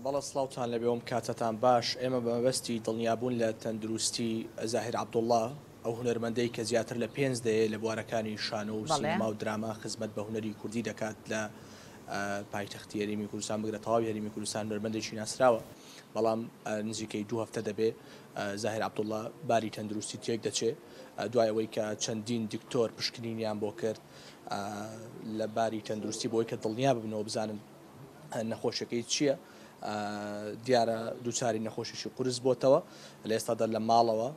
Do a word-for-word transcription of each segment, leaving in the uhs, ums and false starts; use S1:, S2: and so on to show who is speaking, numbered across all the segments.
S1: بەڵێ سڵاوتان لەبێ ئەم کاتەتان باش. ئێمە بە مەبەستی دڵنیابوون لە تەندروستی زاهیر عەبدوڵڵا، ئەو هونەرمەندەی کە زیاتر لە پێنج دەیە لە بوارەکانی شانۆ و سینەما و دراما خزمەت بە هونەری کوردی دەکات لە پایتەختی هەرێمی کوردستان، بگرە تەواوی هەرێمی کوردستان هونەرمەندێکی ناسراوە، بەڵام نزیکەی دوو هەفتە دەبێ زاهیر عەبدوڵڵا باری تەندروستی تێک دەچێ دوای ئەوەی کە چەندین دکتۆر پشکنینیان بۆ کرد لە باری تەندروستی بۆی کە دڵنیا ببنەوە بزانن نەخۆشیەکەی چییە. دیارە دووچاری نەخۆشیی قورس بۆتەوە، لە ئێستادا لە ماڵەوە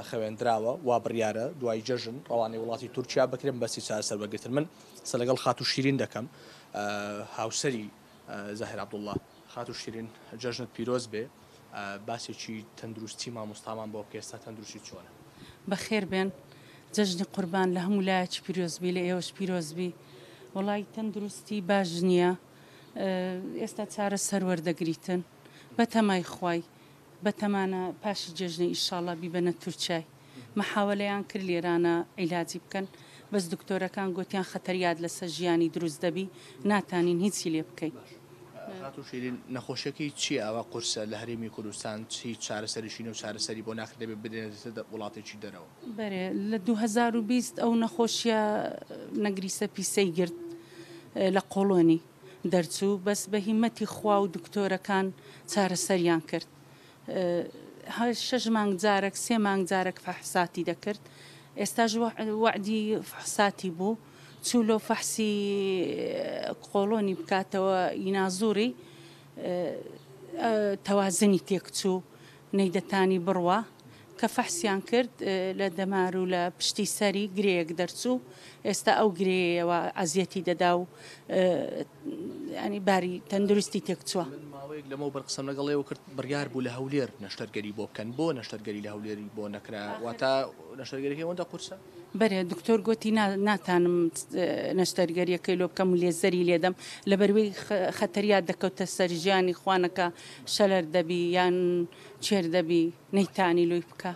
S1: خەوێندراوە، وا بڕیارە دوای جەژن ڕەوانەی وڵاتی تورکیا بکرێن بەسی چارەسەر وەرگرتن. من قسە لەگەڵ خاتوو شیرین دەکەم، هاوسەری زاهیر عەبدوڵڵا. خاتوو شیرین، جەژنت پیرۆز بێ، باسێکی تەندروستی مامۆستامان بۆ بکە، ئێستا تەندروستی چۆنە؟
S2: بەخێر بێن، جەژنی قوربان لە هەموو لایەکی پیرۆز بی، لە ئێوەش پیرۆز بی. وڵای تەندروستی باش نییە، ئێستا چارەسەر وەردەگریتن بەتەمای خوای، بەتەمانە پاشی جێژنە ئیشاڵڵا بیبەنە تورکیای. محاولەیان کرد لێرانە عیلاجی بکەن، بەس دکتۆرەکان گوتیان خەتەریات لەسەر ژیانی دروست دەبی، ناتانین هیچی لێ بکەین.
S1: خاتوو شیرین، نەخۆشیەکەی چییە ئەوە قورسە لە هەرێمی کوردستان؟ چی چارەسەریشی و چارەسەری بۆ ناکرێت، دەبێت بدرێنێتە وڵاتێکی دەرەوە؟
S2: بەرێ، لە دوو هەزار و بیست ئەو نەخۆشیە نەگریسە پیسەی گرت لە قۆڵۆنی دەرچوو، بەس بە هیمەتی خوا و دکتۆرەکان چارەسەریان کرد. شەش مانگ جارێک، سێ مانگ جارێک فەحساتی دەکرد، ئێستاش وەعدی فەحساتی بوو، چوو لۆ فەحسی قۆڵۆنی بکاتەوە ئینازوری، تەوازنی تێکچوو، نەیدەتانی بڕوا. کە فەحسیان کرد لە دەمار و لە پشتی سەری گرەیەک دەرچوو، ئێستا ئەو گرەیەوە ئەزیەتی دەدا و ینی باری تەندروستی تێکچووە.
S1: من ماوەیەک لەمەوبەر قسەم لەگەڵ ئێوە کرد، بڕیار بوو لە هەولێر نەشتەرگەری بۆ بکەن، بۆ نەشتەرگەری لە هەولێری بۆ نەکرا؟ واتە نەشتەرگەریەکەی ئەوەندە قورسە؟
S2: بەرێ، دکتۆر گوتی ناتانم نەشتەرگەریەکەی لۆ بکەم و لێزەری لێدەم، لەبەروەی خەتەریات دەکەوتە سەر ژیانی خوانەکە، شەلەر دەبی یان چێر دەبی، نەیتانی لۆی بکە.